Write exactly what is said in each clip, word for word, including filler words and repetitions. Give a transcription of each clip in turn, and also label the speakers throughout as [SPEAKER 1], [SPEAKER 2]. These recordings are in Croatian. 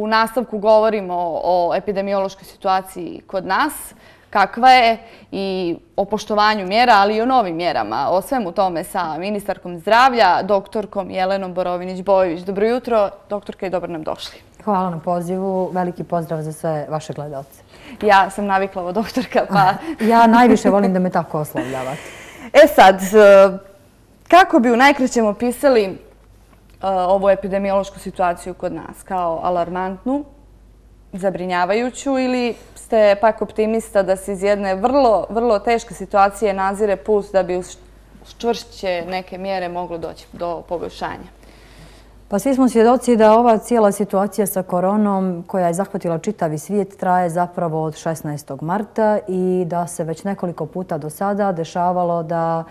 [SPEAKER 1] u nastavku govorimo o epidemiološkoj situaciji kod nas, kakva je, i o poštovanju mjera, ali i o novim mjerama. O svemu tome sa ministarkom zdravlja, doktorkom Jelenom Borovinć-Bojović. Dobro jutro, doktorka, i dobro nam došli.
[SPEAKER 2] Hvala na pozivu. Veliki pozdrav za sve vaše gledalce.
[SPEAKER 1] Ja sam navikla ovo, doktorka, pa...
[SPEAKER 2] Ja najviše volim da me tako oslovljavate.
[SPEAKER 1] E sad, kako bi u najkraćem opisali ovu epidemiološku situaciju kod nas? Kao alarmantnu, zabrinjavajuću, ili ste pak optimista da se iz jedne vrlo, vrlo teške situacije nazire put da bi uz čvršće neke mjere moglo doći do poboljšanja?
[SPEAKER 2] Pa svi smo svjedoci da ova cijela situacija sa koronom koja je zahvatila čitavi svijet traje zapravo od šesnaestog marta i da se već nekoliko puta do sada dešavalo da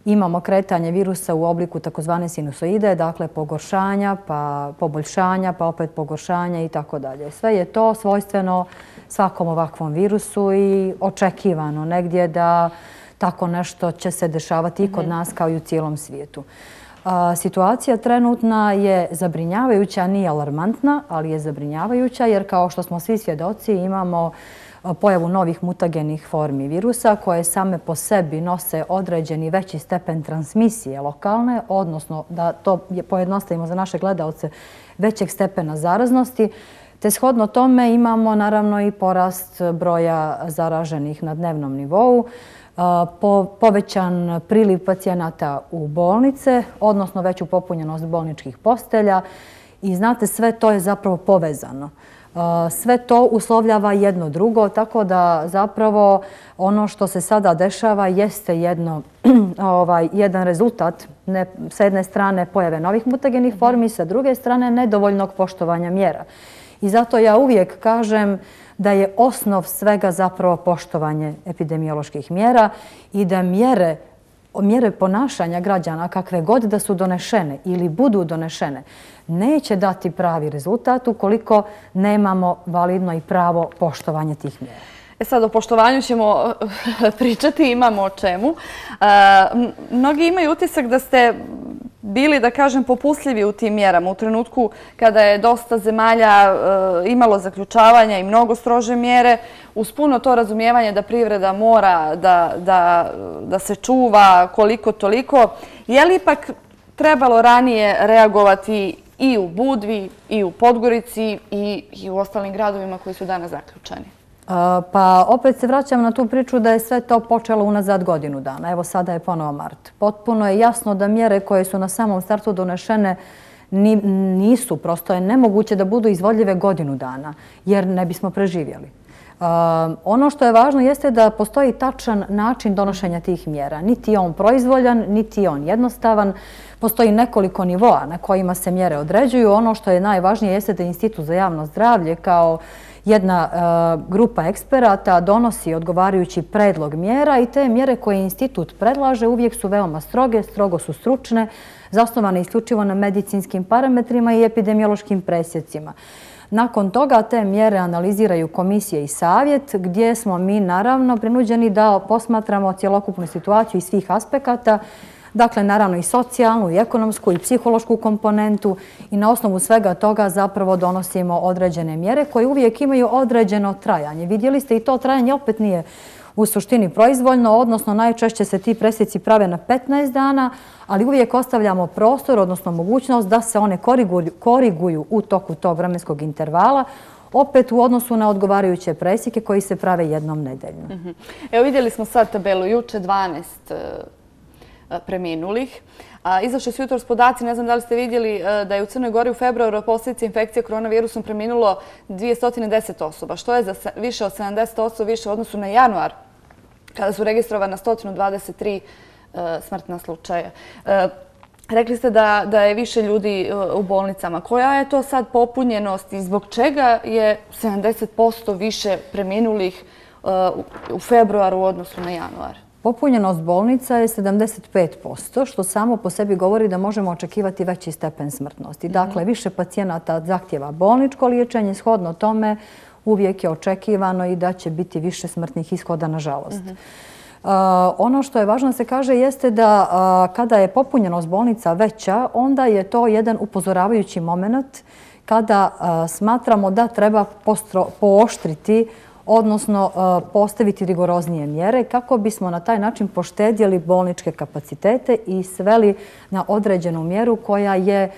[SPEAKER 2] imamo kretanje virusa u obliku takozvane sinusoide, dakle pogoršanja, pa poboljšanja, pa opet pogoršanja i tako dalje. Sve je to svojstveno svakom ovakvom virusu i očekivano negdje da tako nešto će se dešavati i kod nas kao i u cijelom svijetu. Situacija trenutna je zabrinjavajuća, nije alarmantna, ali je zabrinjavajuća jer kao što smo svi svjedoci imamo pojavu novih mutagenih formi virusa koje same po sebi nose određeni veći stepen transmisije lokalne, odnosno da to pojednostavimo za naše gledalce većeg stepena zaraznosti, te shodno tome imamo naravno i porast broja zaraženih na dnevnom nivou, povećan priliv pacijenata u bolnice, odnosno veću popunjenost bolničkih postelja i znate sve to je zapravo povezano. Sve to uslovljava jedno drugo, tako da zapravo ono što se sada dešava jeste jedno, ovaj, jedan rezultat ne, sa jedne strane pojave novih mutagenih formi, sa druge strane nedovoljnog poštovanja mjera. I zato ja uvijek kažem da je osnov svega zapravo poštovanje epidemioloških mjera i da mjere, mjere ponašanja građana kakve god da su donešene ili budu donešene neće dati pravi rezultat ukoliko nemamo validno i pravo poštovanje tih mjera.
[SPEAKER 1] E sad, o poštovanju ćemo pričati, imamo o čemu. Mnogi imaju utisak da ste bili, da kažem, popustljivi u tim mjerama u trenutku kada je dosta zemalja imalo zaključavanja i mnogo strože mjere, uz puno to razumijevanje da privreda mora da, da, da se čuva koliko toliko. Je li ipak trebalo ranije reagovati i u Budvi, i u Podgorici, i, i u ostalim gradovima koji su danas zaključani?
[SPEAKER 2] Pa opet se vraćam na tu priču da je sve to počelo unazad godinu dana. Evo sada je ponovo mart. Potpuno je jasno da mjere koje su na samom startu donešene nisu, prosto je nemoguće da budu izvodljive godinu dana jer ne bismo preživjeli. Ono što je važno jeste da postoji tačan način donošenja tih mjera. Niti je on proizvoljan, niti je on jednostavan. Postoji nekoliko nivoa na kojima se mjere određuju. Ono što je najvažnije jeste da Institut za javno zdravlje kao jedna uh, grupa eksperata donosi odgovarajući predlog mjera i te mjere koje institut predlaže uvijek su veoma stroge, strogo su stručne, zasnovane isključivo na medicinskim parametrima i epidemiološkim presjecima. Nakon toga te mjere analiziraju komisije i savjet gdje smo mi naravno prinuđeni da posmatramo cjelokupnu situaciju iz svih aspekata, dakle naravno i socijalnu, i ekonomsku, i psihološku komponentu i na osnovu svega toga zapravo donosimo određene mjere koje uvijek imaju određeno trajanje. Vidjeli ste i to trajanje opet nije u suštini proizvoljno, odnosno najčešće se ti presjeci prave na petnaest dana, ali uvijek ostavljamo prostor, odnosno mogućnost da se one koriguju, koriguju u toku tog vremenskog intervala, opet u odnosu na odgovarajuće presjeke koji se prave jednom nedeljno.
[SPEAKER 1] Mm-hmm. Evo vidjeli smo sad tabelu, juče dvanaest preminulih. Izašli su jutros podaci, ne znam da li ste vidjeli da je u Crnoj Gori u februaru od posljedice infekcije koronavirusom preminulo dvjesto deset osoba, što je za više od sedamdeset osoba više u odnosu na januar, kada su registrovana sto dvadeset tri smrtna slučaja. Rekli ste da, da je više ljudi u bolnicama. Koja je to sad popunjenost i zbog čega je sedamdeset posto više preminulih u februaru u odnosu na januar?
[SPEAKER 2] Popunjenost bolnica je sedamdeset pet posto, što samo po sebi govori da možemo očekivati veći stepen smrtnosti. Dakle, više pacijenata zahtjeva bolničko liječenje, shodno tome uvijek je očekivano i da će biti više smrtnih ishoda, nažalost. Mm-hmm. Uh, ono što je važno da se kaže jeste da uh, kada je popunjenost bolnica veća, onda je to jedan upozoravajući moment kada smatramo da treba pooštriti, odnosno postaviti rigoroznije mjere kako bismo na taj način poštedjeli bolničke kapacitete i sveli na određenu mjeru koja je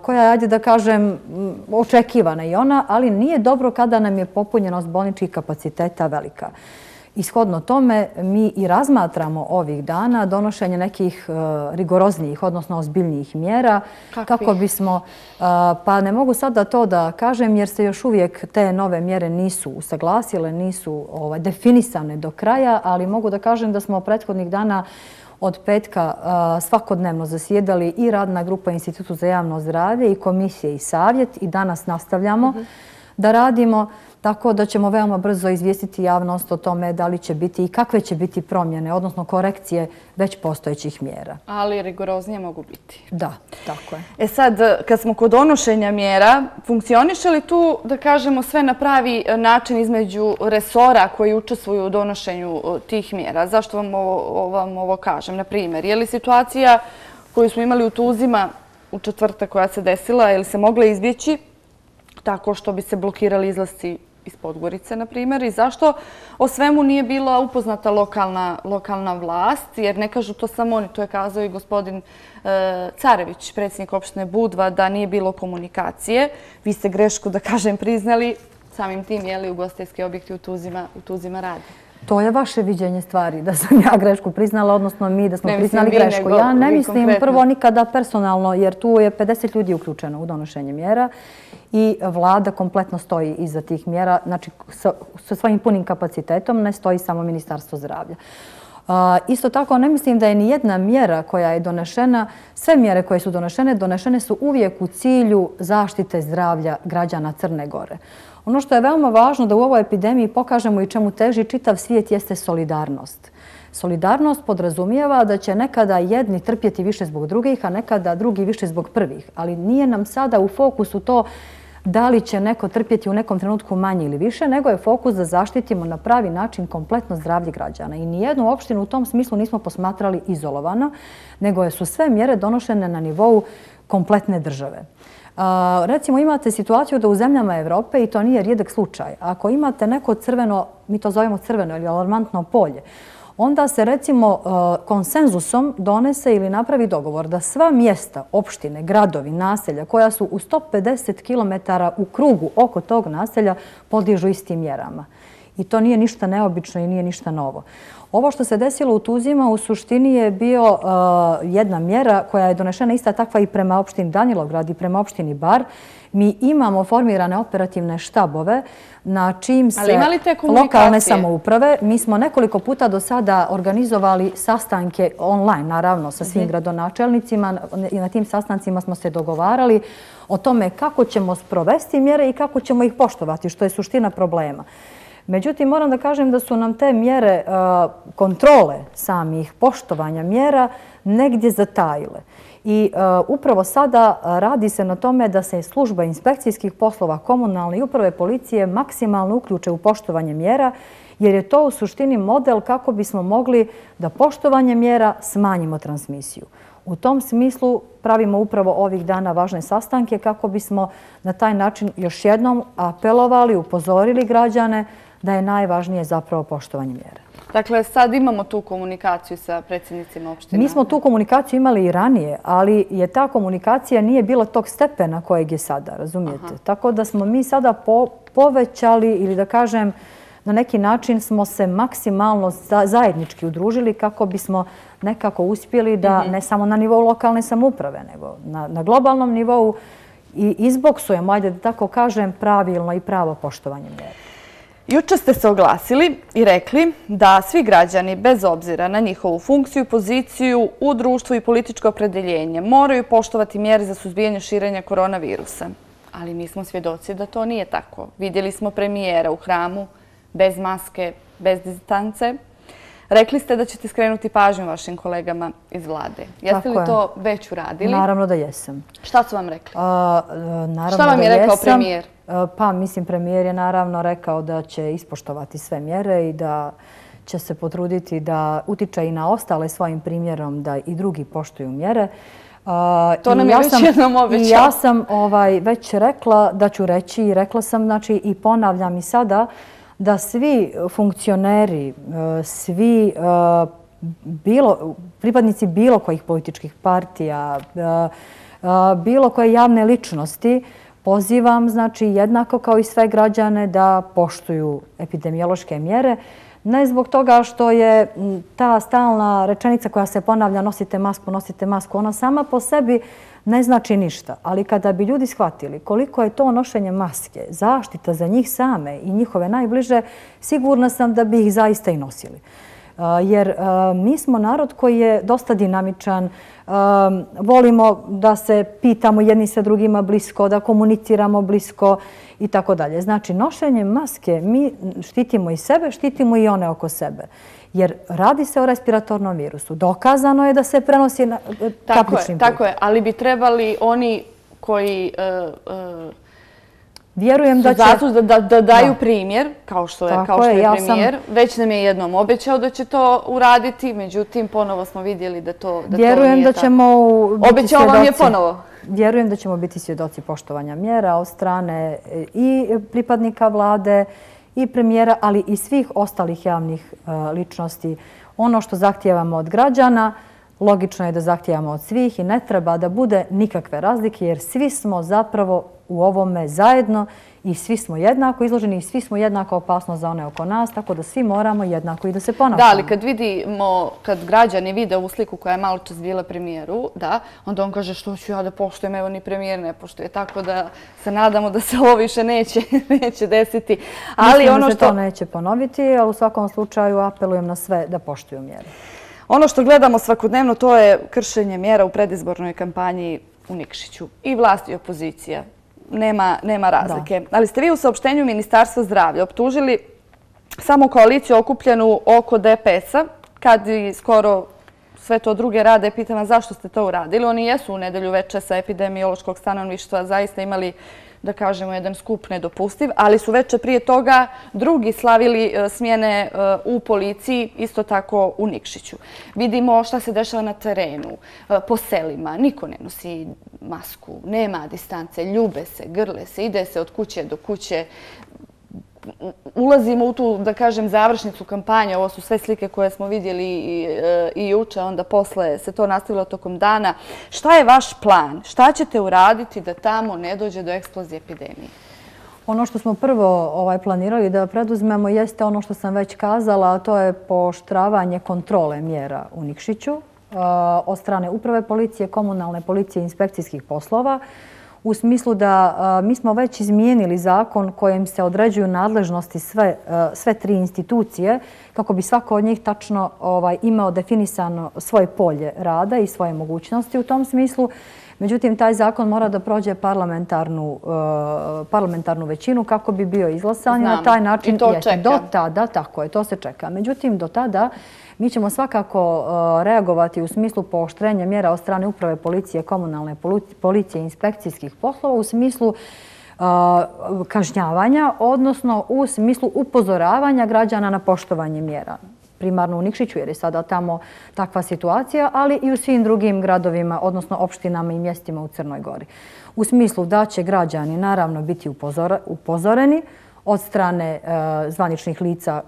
[SPEAKER 2] koja je, ajde da kažem, očekivana i ona, ali nije dobro kada nam je popunjenost bolničkih kapaciteta velika. Ishodno tome mi i razmatramo ovih dana donošenje nekih rigoroznijih, odnosno ozbiljnijih mjera kako bismo, pa ne mogu sada to da kažem jer se još uvijek te nove mjere nisu usaglasile, nisu definisane do kraja, ali mogu da kažem da smo prethodnih dana od petka svakodnevno zasjedali i radna grupa Institutu za javno zdravlje i komisije i savjet i danas nastavljamo da radimo, tako da ćemo veoma brzo izvijestiti javnost o tome da li će biti i kakve će biti promjene, odnosno korekcije već postojećih mjera.
[SPEAKER 1] Ali rigoroznije mogu biti.
[SPEAKER 2] Da, tako je.
[SPEAKER 1] E sad, kad smo kod donošenja mjera, funkcioniše li tu, da kažemo, sve na pravi način između resora koji učestvuju u donošenju tih mjera? Zašto vam ovo, vam ovo kažem? Na primjer, je li situacija koju smo imali u Tuzima u četvrtak koja se desila, je li se mogla izbjeći tako što bi se blokirali izlasci iz Podgorice, na primjer, i zašto o svemu nije bila upoznata lokalna, lokalna vlast, jer ne kažu to samo oni, to je kazao i gospodin e, Carević, predsjednik opštine Budva, da nije bilo komunikacije. Vi ste grešku, da kažem, priznali, samim tim je li ugostiteljski objekti u Tuzima, u Tuzima radi.
[SPEAKER 2] To je vaše viđenje stvari, da sam ja grešku priznala, odnosno mi da smo
[SPEAKER 1] ne
[SPEAKER 2] priznali
[SPEAKER 1] vi,
[SPEAKER 2] grešku.
[SPEAKER 1] Nego,
[SPEAKER 2] ja ne mislim
[SPEAKER 1] konkretno.
[SPEAKER 2] Prvo nikada personalno, jer tu je pedeset ljudi uključeno u donošenje mjera i vlada kompletno stoji iza tih mjera, znači sa, sa svojim punim kapacitetom, ne stoji samo Ministarstvo zdravlja. Uh, isto tako ne mislim da je ni jedna mjera koja je donešena, sve mjere koje su donešene, donešene su uvijek u cilju zaštite zdravlja građana Crne Gore. Ono što je veoma važno da u ovoj epidemiji pokažemo i čemu teži čitav svijet jeste solidarnost. Solidarnost podrazumijeva da će nekada jedni trpjeti više zbog drugih, a nekada drugi više zbog prvih. Ali nije nam sada u fokusu to da li će neko trpjeti u nekom trenutku manje ili više, nego je fokus da zaštitimo na pravi način kompletno zdravlje građana. I nijednu opštinu u tom smislu nismo posmatrali izolovano, nego su sve mjere donošene na nivou kompletne države. Uh, recimo imate situaciju da u zemljama Evrope, i to nije rijedak slučaj, ako imate neko crveno, mi to zovemo crveno ili alarmantno polje, onda se recimo uh, konsenzusom donese ili napravi dogovor da sva mjesta, opštine, gradovi, naselja koja su u sto pedeset kilometara u krugu oko tog naselja podliježu istim mjerama. I to nije ništa neobično i nije ništa novo. Ovo što se desilo u Tuzima u suštini je bio uh, jedna mjera koja je donešena ista takva i prema opštini Danilovgrad i prema opštini Bar. Mi imamo formirane operativne štabove na čim se lokalne samouprave. Mi smo nekoliko puta do sada organizovali sastanke online, naravno, sa svim gradonačelnicima i na tim sastancima smo se dogovarali o tome kako ćemo sprovesti mjere i kako ćemo ih poštovati, što je suština problema. Međutim, moram da kažem da su nam te mjere kontrole samih poštovanja mjera negdje zatajile. I upravo sada radi se na tome da se služba inspekcijskih poslova, komunalne i uprave policije maksimalno uključe u poštovanje mjera, jer je to u suštini model kako bismo mogli da poštovanje mjera smanjimo transmisiju. U tom smislu pravimo upravo ovih dana važne sastanke kako bismo na taj način još jednom apelovali, upozorili građane da je najvažnije zapravo poštovanje mjera.
[SPEAKER 1] Dakle, sad imamo tu komunikaciju sa predsjednicima opština.
[SPEAKER 2] Mi smo tu komunikaciju imali i ranije, ali je ta komunikacija nije bila tog stepena kojeg je sada, razumijete? Aha. Tako da smo mi sada po, povećali ili da kažem na neki način smo se maksimalno zajednički udružili kako bismo nekako uspjeli da ne samo na nivou lokalne samouprave, nego na, na globalnom nivou i izboksujemo, ajde da tako kažem, pravilno i pravo poštovanje mjera.
[SPEAKER 1] Juče ste se oglasili i rekli da svi građani, bez obzira na njihovu funkciju i poziciju u društvu i političko opredeljenje, moraju poštovati mjere za suzbijanje širenja koronavirusa. Ali mi smo svjedoci da to nije tako. Vidjeli smo premijera u hramu, bez maske, bez distance. Rekli ste da ćete skrenuti pažnju vašim kolegama iz vlade. Jeste li to već uradili?
[SPEAKER 2] Naravno da jesam.
[SPEAKER 1] Šta su vam rekli?
[SPEAKER 2] Šta
[SPEAKER 1] vam je rekao premijer?
[SPEAKER 2] Pa, mislim, premijer je naravno rekao da će ispoštovati sve mjere i da će se potruditi da utiče i na ostale svojim primjerom da i drugi poštuju mjere.
[SPEAKER 1] To nam je već jednom obećao.
[SPEAKER 2] I ja sam već rekla da ću reći i rekla sam, znači i ponavljam i sada, da svi funkcioneri, svi pripadnici bilo kojih političkih partija, bilo koje javne ličnosti, pozivam, znači, jednako kao i sve građane da poštuju epidemiološke mjere. Ne zbog toga što je ta stalna rečenica koja se ponavlja nosite masku, nosite masku, ona sama po sebi ne znači ništa. Ali kada bi ljudi shvatili koliko je to nošenje maske, zaštita za njih same i njihove najbliže, sigurna sam da bi ih zaista i nosili. Jer mi smo narod koji je dosta dinamičan, volimo da se pitamo jedni sa drugima blisko, da komuniciramo blisko i tako dalje. Znači, nošenjem maske mi štitimo i sebe, štitimo i one oko sebe. Jer radi se o respiratornom virusu. Dokazano je da se prenosi kapličnim putem.
[SPEAKER 1] Tako je, ali bi trebali oni koji
[SPEAKER 2] Vjerujem da će...
[SPEAKER 1] Da daju primjer, kao što je premijer. Već nam je jednom obećao da će to uraditi, međutim, ponovo smo vidjeli da to nije tako.
[SPEAKER 2] Vjerujem da ćemo biti svjedoci...
[SPEAKER 1] Obećao vam je ponovo.
[SPEAKER 2] Vjerujem da ćemo biti svjedoci poštovanja mjera od strane i pripadnika vlade i premijera, ali i svih ostalih javnih ličnosti. Ono što zahtijevamo od građana, logično je da zahtijevamo od svih i ne treba da bude nikakve razlike, jer svi smo zapravo u ovome zajedno i svi smo jednako izloženi i svi smo jednako opasno za one oko nas, tako da svi moramo jednako i da se ponašamo.
[SPEAKER 1] Da, ali kad vidimo, kad građani vide u sliku koja je malo čas bila premijeru, da, onda on kaže što ću ja da poštujem, evo ni premijer ne poštuje, tako da se nadamo da se ovo više neće desiti.
[SPEAKER 2] Mislim da se to neće ponoviti, ali u svakom slučaju apelujem na sve da poštuju mjere.
[SPEAKER 1] Ono što gledamo svakodnevno to je kršenje mjera u predizbornoj kampanji u Nikšiću. I vlast i opozicija. Nema razlike. Ali ste vi u saopštenju Ministarstva zdravlja optužili samo koaliciju okupljenu oko D P S-a, kad i skoro sve to druge rade. Pitam vas zašto ste to uradili. Oni jesu u nedelju veče sa epidemiološkog stanovništva zaista imali, da kažemo, jedan skup nedopustiv, ali su veče prije toga drugi slavili smjene u policiji, isto tako u Nikšiću. Vidimo šta se dešava na terenu, po selima. Niko ne nosi masku, nema distance, ljube se, grle se, ide se od kuće do kuće. Ulazimo u tu, da kažem, završnicu kampanje. Ovo su sve slike koje smo vidjeli i juče, onda posle se to nastavilo tokom dana. Šta je vaš plan? Šta ćete uraditi da tamo ne dođe do eksplozije epidemije?
[SPEAKER 2] Ono što smo prvo planirali da preduzmemo jeste ono što sam već kazala, a to je pooštravanje kontrole mjera u Nikšiću od strane uprave policije, komunalne policije i inspekcijskih poslova. U smislu da mi smo već izmijenili zakon kojim se određuju nadležnosti sve tri institucije kako bi svako od njih tačno imao definisano svoje polje rada i svoje mogućnosti u tom smislu. Međutim, taj zakon mora da prođe parlamentarnu većinu kako bi bio izglasan.
[SPEAKER 1] Znam, i to čeka.
[SPEAKER 2] Do tada, tako je, to se čeka. Međutim, do tada mi ćemo svakako reagovati u smislu pooštrenja mjera od strane uprave policije, komunalne policije i inspekcijskih poslova u smislu kažnjavanja, odnosno u smislu upozoravanja građana na poštovanje mjera. Primarno u Nikšiću jer je sada tamo takva situacija, ali i u svim drugim gradovima, odnosno opštinama i mjestima u Crnoj Gori. U smislu da će građani naravno biti upozoreni od strane zvaničnih lica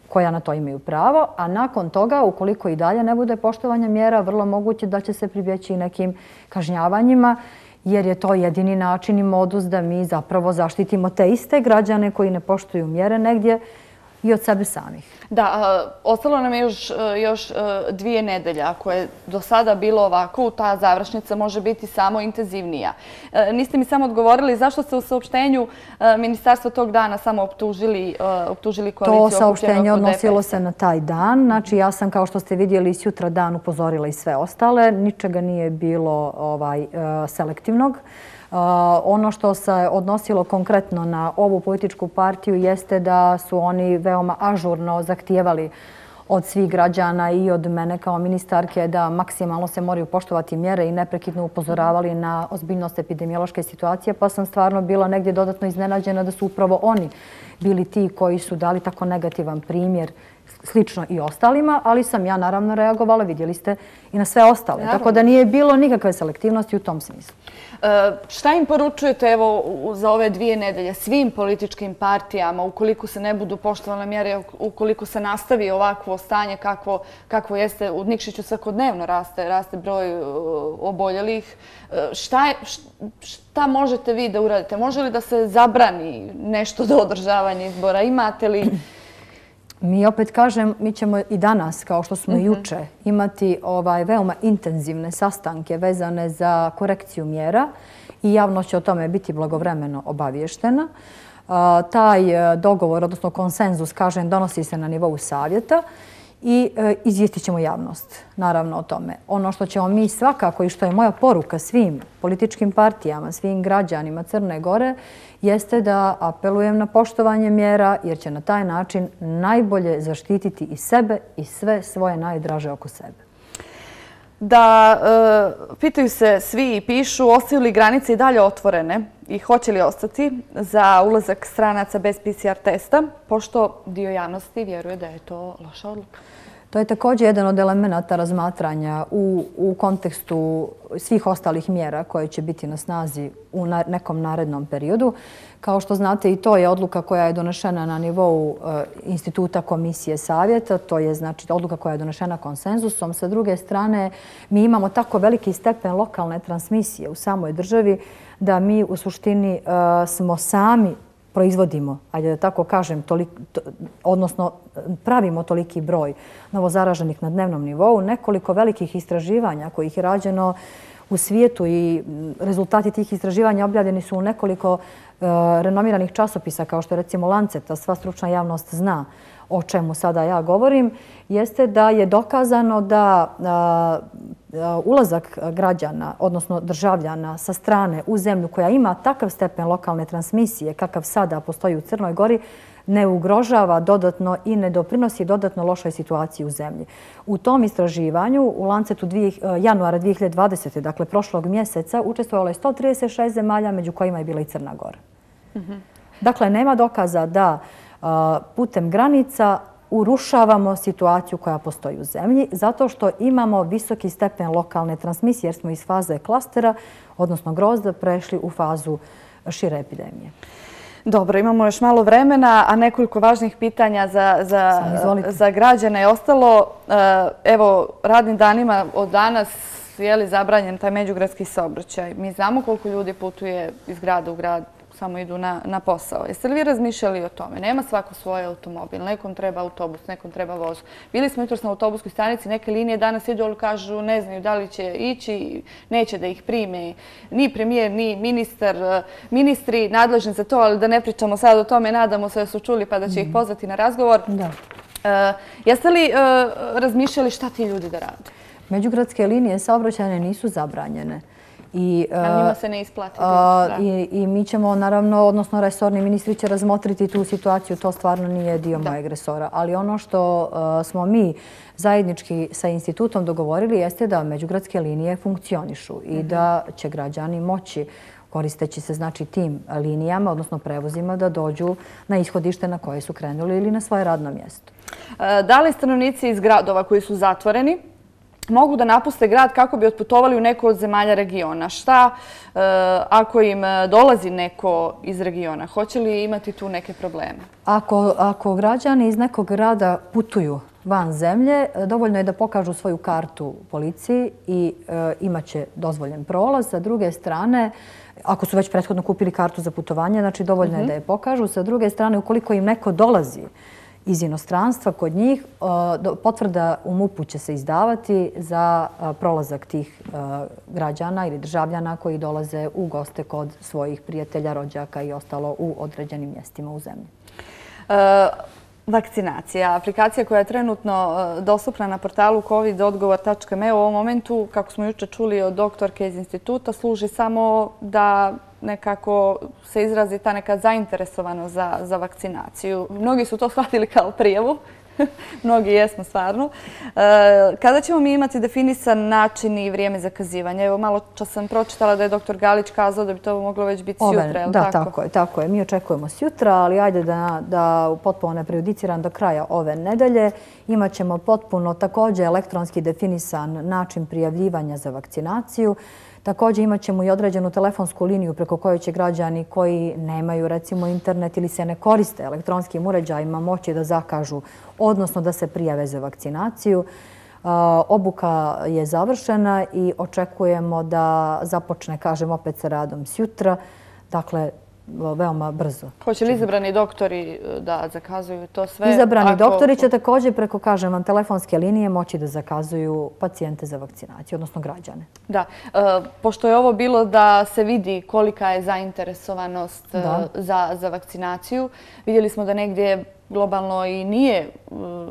[SPEAKER 2] koja na to imaju pravo, a nakon toga, ukoliko i dalje ne bude poštovanja mjera, vrlo moguće da će se pribjeći i nekim kažnjavanjima, jer je to jedini način i modus da mi zapravo zaštitimo te iste građane koji ne poštuju mjere negdje i od sebe samih.
[SPEAKER 1] Da, ostalo nam je još dvije nedelje. Ako je do sada bilo ovako, ta završnica može biti samo intenzivnija. Niste mi samo odgovorili zašto ste u saopštenju ministarstva tog dana samo optužili koaliciju okupljenu oko D P S-a?
[SPEAKER 2] To saopštenje odnosilo se na taj dan. Znači, ja sam, kao što ste vidjeli, sutra dan upozorila i sve ostale. Ničega nije bilo selektivnog. Ono što se odnosilo konkretno na ovu političku partiju jeste da su oni veoma ažurno zahtijevali od svih građana i od mene kao ministarke da maksimalno se moraju poštovati mjere i neprekidno upozoravali na ozbiljnost epidemiološke situacije, pa sam stvarno bila negdje dodatno iznenađena da su upravo oni bili ti koji su dali tako negativan primjer slično i ostalima, ali sam ja naravno reagovala, vidjeli ste, i na sve ostale.
[SPEAKER 1] Naravno.
[SPEAKER 2] Tako da nije bilo nikakve selektivnosti u tom smislu.
[SPEAKER 1] E, šta im poručujete evo za ove dvije nedelje svim političkim partijama ukoliko se ne budu poštovale mjere, ukoliko se nastavi ovakvo stanje kakvo, kakvo jeste u Nikšiću svakodnevno raste, raste broj oboljelih. Šta, je, šta možete vi da uradite? Može li da se zabrani nešto do održavanja izbora? Imate li...
[SPEAKER 2] Mi opet kažem, mi ćemo i danas, kao što smo juče, imati ovaj veoma intenzivne sastanke vezane za korekciju mjera i javno će o tome biti blagovremeno obavještena. Taj dogovor, odnosno konsenzus, kažem, donosi se na nivou savjeta i izvijestit ćemo javnost, naravno, o tome. Ono što ćemo mi svakako i što je moja poruka svim političkim partijama, svim građanima Crne Gore, jeste da apelujem na poštovanje mjera jer će na taj način najbolje zaštititi i sebe i sve svoje najdraže oko sebe.
[SPEAKER 1] Da, e, pitaju se svi i pišu, ostaju li granice i dalje otvorene i hoće li ostati za ulazak stranaca bez P C R testa, pošto dio javnosti vjeruje da je to loša odluka.
[SPEAKER 2] To je također jedan od elemenata razmatranja u, u kontekstu svih ostalih mjera koje će biti na snazi u na, nekom narednom periodu. Kao što znate, i to je odluka koja je donešena na nivou e, instituta komisije savjeta. To je znači odluka koja je donešena konsenzusom. Sa druge strane, mi imamo tako veliki stepen lokalne transmisije u samoj državi da mi u suštini e, smo sami proizvodimo, ajde da tako kažem, tolik, to, odnosno pravimo toliki broj novozaraženih na dnevnom nivou. Nekoliko velikih istraživanja kojih je rađeno u svijetu i rezultati tih istraživanja objavljeni su u nekoliko uh, renomiranih časopisa, kao što je recimo Lancet, a sva stručna javnost zna o čemu sada ja govorim, jeste da je dokazano da uh, ulazak građana, odnosno državljana sa strane u zemlju koja ima takav stepen lokalne transmisije kakav sada postoji u Crnoj Gori, ne ugrožava dodatno i ne doprinosi dodatno lošoj situaciji u zemlji. U tom istraživanju u Lancetu januara dvije hiljade dvadesete. dakle prošlog mjeseca, učestvovalo je sto trideset šest zemalja, među kojima je bila i Crna Gora. Mm-hmm. Dakle, nema dokaza da a, putem granica urušavamo situaciju koja postoji u zemlji, zato što imamo visoki stepen lokalne transmisije, jer smo iz faze klastera, odnosno grozda, prešli u fazu šire epidemije.
[SPEAKER 1] Dobro, imamo još malo vremena, a nekoliko važnih pitanja za, za, za građane je ostalo. Evo, radnim danima od danas je li zabranjen taj međugradski saobraćaj. Mi znamo koliko ljudi putuje iz grada u grad, samo idu na, na posao. Jeste li vi razmišljali o tome? Nema svako svoj automobil, nekom treba autobus, nekom treba voz. Bili smo jutros na autobuskoj stanici, neke linije danas idu, ali kažu ne znaju da li će ići, neće da ih prime ni premijer, ni ministar, ministri nadležni za to, ali da ne pričamo sad o tome, nadamo se da su čuli pa da će ih pozvati na razgovor. Da. E, jeste li e, razmišljali šta ti ljudi da rade?
[SPEAKER 2] Međugradske linije saobraćajne nisu zabranjene.
[SPEAKER 1] I, a njima se ne isplati.
[SPEAKER 2] A, i, I mi ćemo, naravno, odnosno resorni ministri će razmotriti tu situaciju. To stvarno nije dio da. mojeg resora. Ali ono što a, smo mi zajednički sa institutom dogovorili jeste da međugradske linije funkcionišu i mm-hmm. da će građani moći, koristeći se znači tim linijama, odnosno prevozima, da dođu na ishodište na koje su krenuli ili na svoje radno mjesto.
[SPEAKER 1] E, da li stanovnici iz gradova koji su zatvoreni mogu da napuste grad kako bi otputovali u neko od zemalja regiona? Šta e, ako im dolazi neko iz regiona? Hoće li imati tu neke probleme?
[SPEAKER 2] Ako, ako građani iz nekog grada putuju van zemlje, dovoljno je da pokažu svoju kartu policiji i e, imaće dozvoljen prolaz. Sa druge strane, ako su već prethodno kupili kartu za putovanje, znači dovoljno mm-hmm. je da je pokažu. Sa druge strane, ukoliko im neko dolazi iz inostranstva kod njih, potvrda u MUP-u će se izdavati za prolazak tih građana ili državljana koji dolaze u goste kod svojih prijatelja, rođaka i ostalo u određenim mjestima u zemlji.
[SPEAKER 1] E, vakcinacija, aplikacija koja je trenutno dostupna na portalu covid odgovor tačka me u ovom momentu, kako smo juče čuli od doktorke iz instituta, služi samo da nekako se izrazi ta neka zainteresovanost za, za vakcinaciju. Mnogi su to shvatili kao prijavu. Mnogi jesmo, stvarno. Kada ćemo mi imati definisan način i vrijeme zakazivanja? Evo, malo čas sam pročitala da je doktor Galić kazao da bi to moglo već biti sjutra, je li tako?
[SPEAKER 2] Da, tako je, tako je. Mi očekujemo sjutra, ali ajde da potpuno ne prejudiciram do kraja ove nedelje. Imaćemo potpuno također elektronski definisan način prijavljivanja za vakcinaciju. Također imat ćemo i određenu telefonsku liniju preko koje će građani koji nemaju recimo internet ili se ne koriste elektronskim uređajima moći da zakažu, odnosno da se prijave za vakcinaciju. Obuka je završena i očekujemo da započne, kažem, opet sa radom sjutra. Dakle, veoma brzo.
[SPEAKER 1] Hoće li izabrani doktori da zakazuju to sve?
[SPEAKER 2] Izabrani doktori će također preko, kažem vam, telefonske linije moći da zakazuju pacijente za vakcinaciju, odnosno građane.
[SPEAKER 1] Da. Pošto je ovo bilo da se vidi kolika je zainteresovanost za vakcinaciju, vidjeli smo da negdje globalno i nije.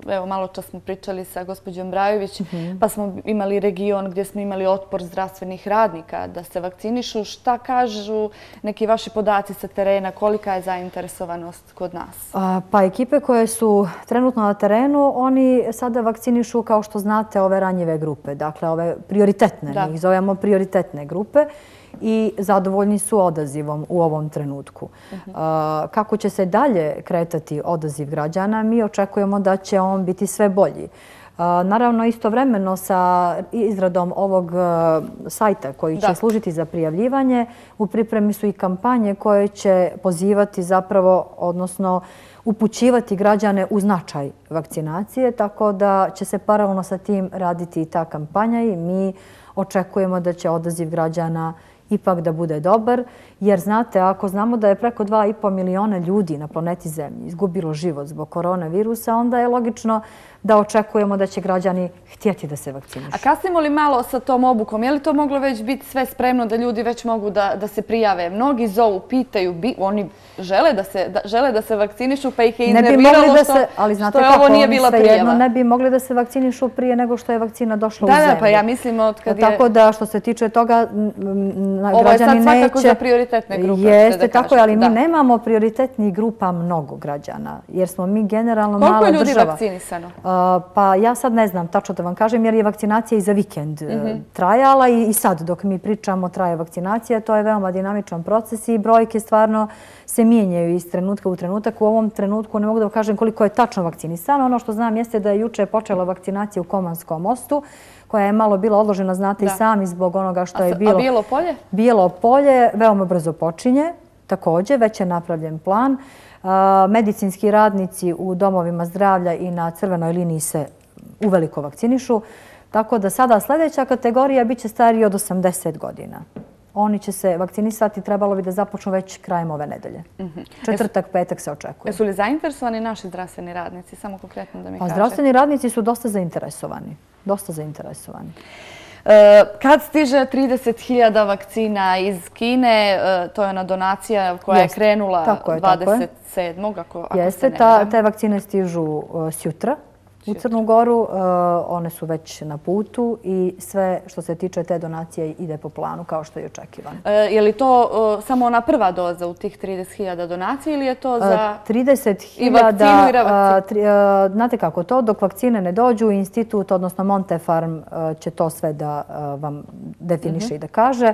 [SPEAKER 1] Evo, malo čas smo pričali sa gospođom Brajović, pa smo imali region gdje smo imali otpor zdravstvenih radnika da se vakcinišu. Šta kažu neki vaši podaci sa terena? Kolika je zainteresovanost kod nas?
[SPEAKER 2] Pa ekipe koje su trenutno na terenu, oni sada vakcinišu, kao što znate, ove ranjive grupe. Dakle, ove prioritetne, mi ih zovemo prioritetne grupe. I zadovoljni su odazivom u ovom trenutku. Kako će se dalje kretati odaziv građana, mi očekujemo da će on biti sve bolji. Naravno, istovremeno sa izradom ovog sajta koji će služiti za prijavljivanje, u pripremi su i kampanje koje će pozivati zapravo, odnosno upućivati građane u značaj vakcinacije, tako da će se paralelno sa tim raditi i ta kampanja i mi očekujemo da će odaziv građana ipak da bude dobar, jer znate, ako znamo da je preko dva i po miliona ljudi na planeti Zemlji izgubilo život zbog koronavirusa, onda je logično da očekujemo da će građani htjeti da se vakcinišu.
[SPEAKER 1] A kasnimo li malo sa tom obukom? Je li to moglo već biti sve spremno da ljudi već mogu da se prijave? Mnogi zovu, pitaju, oni žele da se vakcinišu, pa ih je iznerviralo što je ovo nije bila prijava.
[SPEAKER 2] Ne bi mogli da se vakcinišu prije nego što je vakcina došla u zemlju.
[SPEAKER 1] Da, da, pa ja mislim od kad je...
[SPEAKER 2] Tako da, što se tiče toga, građani neće...
[SPEAKER 1] Ovo je sad svakako za prioritetne grupe.
[SPEAKER 2] Jeste, tako je, ali mi nemamo prioritetnih grupa mnogo građana, jer smo mi generalno mala država.
[SPEAKER 1] Koliko je ljudi vakcinisano?
[SPEAKER 2] Pa ja sad ne znam tačno da vam kažem, jer je vakcinacija i za vikend trajala i sad dok mi pričamo traje vakcinacija. To je veoma dinamičan proces i brojke stvarno se mijenjaju iz trenutka u trenutak. U ovom trenutku ne mogu da vam kažem koliko je tačno vakcinisano. Ono što znam jeste da je juče počela vakcinacija u Komanskom mostu, koja je malo bila odložena, znate i sami, zbog onoga što je bilo...
[SPEAKER 1] A Bijelo polje?
[SPEAKER 2] Bijelo polje veoma brzo počinje, također, već je napravljen plan. Medicinski radnici u domovima zdravlja i na crvenoj liniji se uveliko vakcinišu. Tako da sada sljedeća kategorija bit će stariji od osamdeset godina. Oni će se vakcinisati, trebalo bi da započnu već krajem ove nedelje. Četvrtak, petak se očekuje.
[SPEAKER 1] Jesu li zainteresovani naši zdravstveni radnici? Samo konkretno da mi kažete.
[SPEAKER 2] Zdravstveni radnici su dosta zainteresovani. Dosta zainteresovani.
[SPEAKER 1] Kad stiže trideset hiljada vakcina iz Kine, to je ona donacija koja je krenula dvadeset sedmog ako se ne varam.
[SPEAKER 2] Te vakcine stižu sjutra u Crnu Goru. One su već na putu i sve što se tiče te donacije ide po planu kao što je očekivano.
[SPEAKER 1] Je li to samo ona prva doza u tih trideset hiljada donacija ili je to za
[SPEAKER 2] trideset hiljada, i vakcinu i revakcinu? Znate kako to, dok vakcine ne dođu, institut, odnosno Montefarm će to sve da vam definiše i da kaže.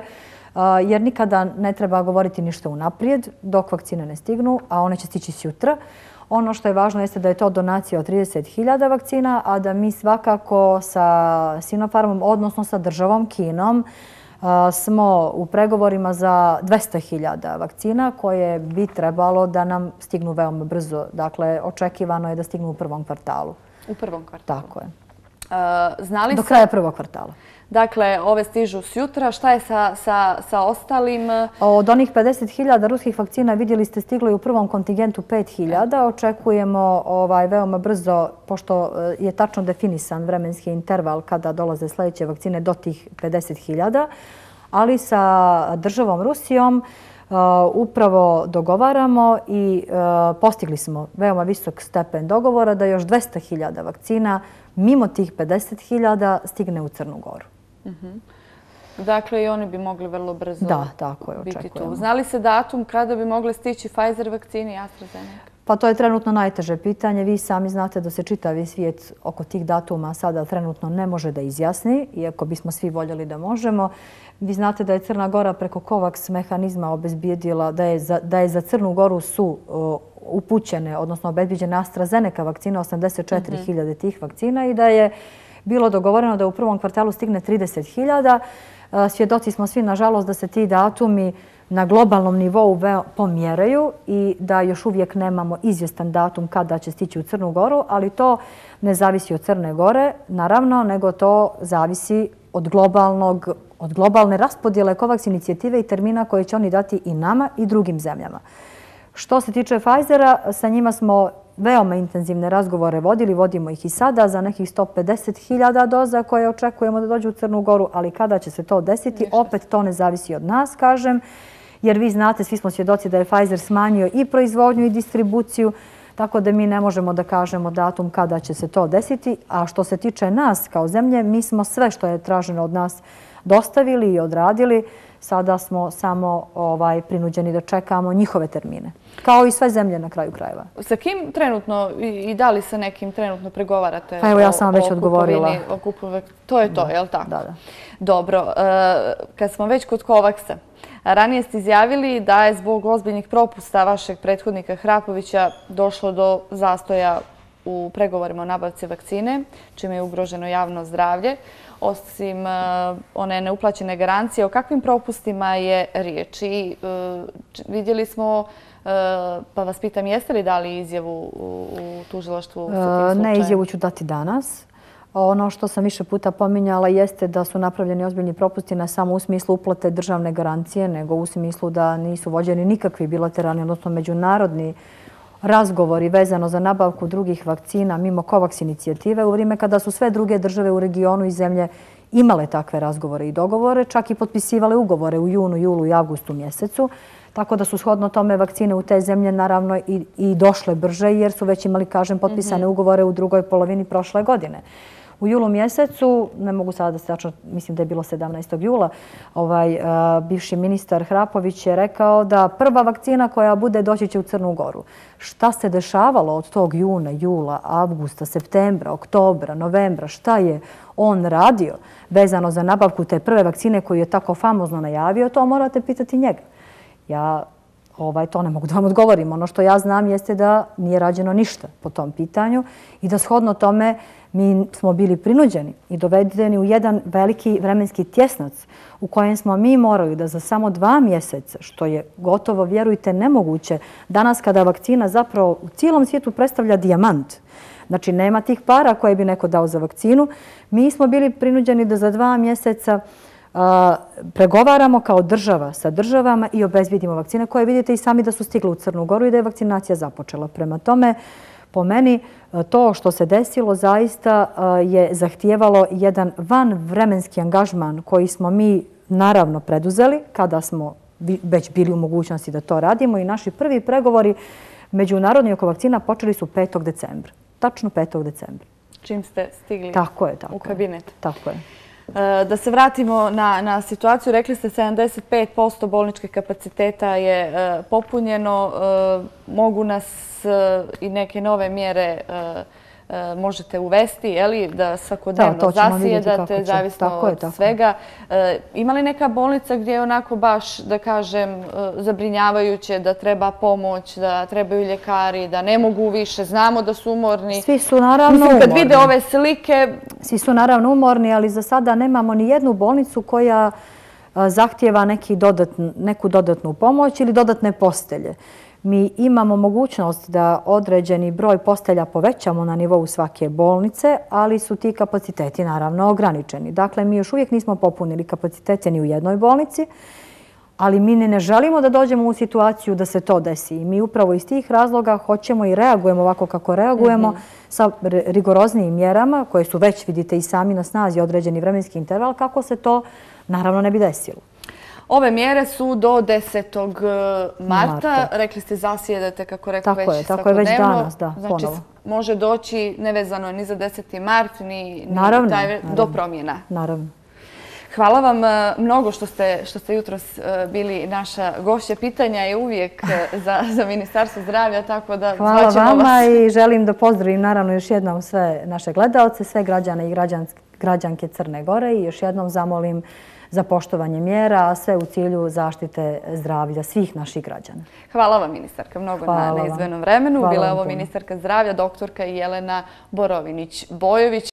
[SPEAKER 2] Jer nikada ne treba govoriti ništa unaprijed dok vakcine ne stignu, a one će stići sjutra. Ono što je važno jeste da je to donacija od trideset hiljada vakcina, a da mi svakako sa Sinopharmom, odnosno sa državom Kinom, smo u pregovorima za dvesta hiljada vakcina koje bi trebalo da nam stignu veoma brzo. Dakle, očekivano je da stignu u prvom kvartalu.
[SPEAKER 1] U prvom kvartalu?
[SPEAKER 2] Tako je.
[SPEAKER 1] Znali
[SPEAKER 2] Do kraja prvog kvartala.
[SPEAKER 1] Dakle, ove stižu sjutra. Šta je sa ostalim?
[SPEAKER 2] Od onih pedeset hiljada ruskih vakcina vidjeli ste stiglo i u prvom kontingentu pet hiljada. Očekujemo veoma brzo, pošto je tačno definisan vremenski interval kada dolaze sljedeće vakcine do tih pedeset hiljada, ali sa državom Rusijom upravo dogovaramo i postigli smo veoma visok stepen dogovora da još dvesta hiljada vakcina mimo tih pedeset hiljada stigne u Crnu Goru.
[SPEAKER 1] Dakle, i oni bi mogli vrlo brzo
[SPEAKER 2] da, tako je,
[SPEAKER 1] biti
[SPEAKER 2] očekujemo.
[SPEAKER 1] tu. Znali se datum kada bi mogle stići Pfizer vakcine i AstraZeneca?
[SPEAKER 2] Pa to je trenutno najteže pitanje. Vi sami znate da se čitavi svijet oko tih datuma sada trenutno ne može da izjasni, iako bismo svi voljeli da možemo. Vi znate da je Crna Gora preko COVAX mehanizma obezbijedila da je za, da je za Crnu Goru su uh, upućene, odnosno obezbijeđene AstraZeneca vakcine, osamdeset četiri hiljade tih vakcina i da je bilo dogovoreno da u prvom kvartalu stigne trideset hiljada. Svjedoci smo svi, nažalost, da se ti datumi na globalnom nivou pomjeraju i da još uvijek nemamo izvjestan datum kada će stići u Crnu Goru, ali to ne zavisi od Crne Gore, naravno, nego to zavisi od globalnog, od globalne raspodjele COVAX inicijative i termina koje će oni dati i nama i drugim zemljama. Što se tiče Pfizera, sa njima smo veoma intenzivne razgovore vodili, vodimo ih i sada za nekih sto pedeset hiljada doza koje očekujemo da dođu u Crnu Goru, ali kada će se to desiti, opet to ne zavisi od nas, kažem, jer vi znate, svi smo svjedoci da je Pfizer smanjio i proizvodnju i distribuciju, tako da mi ne možemo da kažemo datum kada će se to desiti. A što se tiče nas kao zemlje, mi smo sve što je traženo od nas dostavili i odradili. Sada smo samo ovaj, prinuđeni da čekamo njihove termine. Kao i sve zemlje na kraju krajeva.
[SPEAKER 1] Sa kim trenutno i da li sa nekim trenutno pregovarate?
[SPEAKER 2] Pa evo, ja sam već odgovorila.
[SPEAKER 1] O kupovini, to je to, je li tako?
[SPEAKER 2] Da, da.
[SPEAKER 1] Dobro. Kad smo već kod COVAX-a, ranije ste izjavili da je zbog ozbiljnih propusta vašeg prethodnika Hrapovića došlo do zastoja u pregovorima o nabavci vakcine, čime je ugroženo javno zdravlje. Osim one neuplaćene garancije, o kakvim propustima je riječ? I vidjeli smo, pa vas pitam, jeste li dali izjavu u tužilaštvu sa tim slučajem?
[SPEAKER 2] Ne, izjavu ću dati danas. Ono što sam više puta pominjala jeste da su napravljeni ozbiljni propusti ne samo u smislu uplate državne garancije, nego u smislu da nisu vođeni nikakvi bilateralni, odnosno međunarodni razgovori vezano za nabavku drugih vakcina mimo COVAX inicijative u vrijeme kada su sve druge države u regionu i zemlje imale takve razgovore i dogovore, čak i potpisivale ugovore u junu, julu i avgustu mjesecu. Tako da su shodno tome vakcine u te zemlje naravno i, i došle brže jer su već imali, kažem, potpisane ugovore u drugoj polovini prošle godine. U julu mjesecu, ne mogu sada da se tačno, mislim da je bilo sedamnaestog jula, ovaj, uh, bivši ministar Hrapović je rekao da prva vakcina koja bude doći će u Crnu Goru. Šta se dešavalo od tog juna, jula, avgusta, septembra, oktobra, novembra, šta je on radio vezano za nabavku te prve vakcine koju je tako famozno najavio, to morate pitati njega. Ja ovaj, to ne mogu da vam odgovorim. Ono što ja znam jeste da nije rađeno ništa po tom pitanju i da shodno tome mi smo bili prinuđeni i dovedeni u jedan veliki vremenski tjesnac u kojem smo mi morali da za samo dva mjeseca, što je gotovo, vjerujte, nemoguće, danas kada vakcina zapravo u cijelom svijetu predstavlja dijamant, znači nema tih para koje bi neko dao za vakcinu, mi smo bili prinuđeni da za dva mjeseca a, pregovaramo kao država sa državama i obezbijedimo vakcine koje vidite i sami da su stigle u Crnu Goru i da je vakcinacija započela. Prema tome, po meni, to što se desilo zaista je zahtijevalo jedan vanvremenski angažman koji smo mi naravno preduzeli kada smo već bili u mogućnosti da to radimo i naši prvi pregovori međunarodni oko vakcina počeli su petog decembra. Tačno petog decembra.
[SPEAKER 1] Čim ste stigli
[SPEAKER 2] tako je, tako
[SPEAKER 1] u kabinet.
[SPEAKER 2] Tako je.
[SPEAKER 1] Da se vratimo na, na situaciju, rekli ste sedamdeset pet posto bolničkih kapaciteta je e, popunjeno. E, mogu nas e, i neke nove mjere e, e, možete uvesti, je li, da svakodnevno da, zasjedate, zavisno tako je, tako. od svega. E, ima li neka bolnica gdje je onako baš, da kažem, e, zabrinjavajuće, da treba pomoć, da trebaju ljekari, da ne mogu više, znamo da su umorni?
[SPEAKER 2] Svi su naravno
[SPEAKER 1] Mislim, kad
[SPEAKER 2] umorni.
[SPEAKER 1] vide ove slike...
[SPEAKER 2] Svi su naravno umorni, ali za sada nemamo ni jednu bolnicu koja zahtijeva neki dodatn, neku dodatnu pomoć ili dodatne postelje. Mi imamo mogućnost da određeni broj postelja povećamo na nivou svake bolnice, ali su ti kapaciteti naravno ograničeni. Dakle, mi još uvijek nismo popunili kapacitete ni u jednoj bolnici, ali mi ne želimo da dođemo u situaciju da se to desi. I mi upravo iz tih razloga hoćemo i reagujemo ovako kako reagujemo mm-hmm. sa rigoroznijim mjerama koje su već, vidite, i sami na snazi određeni vremenski interval, kako se to naravno ne bi desilo.
[SPEAKER 1] Ove mjere su do desetog marta. Marta. Rekli ste zasjedate, kako rekao, već
[SPEAKER 2] svakodnevno.
[SPEAKER 1] Tako je, već
[SPEAKER 2] danas, da,
[SPEAKER 1] znači,
[SPEAKER 2] ponovo.
[SPEAKER 1] Može doći nevezano ni za deseti mart, ni, ni
[SPEAKER 2] naravno,
[SPEAKER 1] taj,
[SPEAKER 2] naravno.
[SPEAKER 1] do promjena.
[SPEAKER 2] Naravno.
[SPEAKER 1] Hvala vam mnogo što ste, što ste jutros bili naša gošća. Pitanja je uvijek za, za Ministarstvo zdravlja, tako da
[SPEAKER 2] hvala vama
[SPEAKER 1] vas.
[SPEAKER 2] I želim da pozdravim naravno još jednom sve naše gledalce, sve građane i građanke Crne Gore i još jednom zamolim za poštovanje mjera, a sve u cilju zaštite zdravlja svih naših građana.
[SPEAKER 1] Hvala vam, ministarka, mnogo na, na izdvojenom vremenu. Bila je ovo ministarka zdravlja, doktorka Jelena Borovinić-Bojović.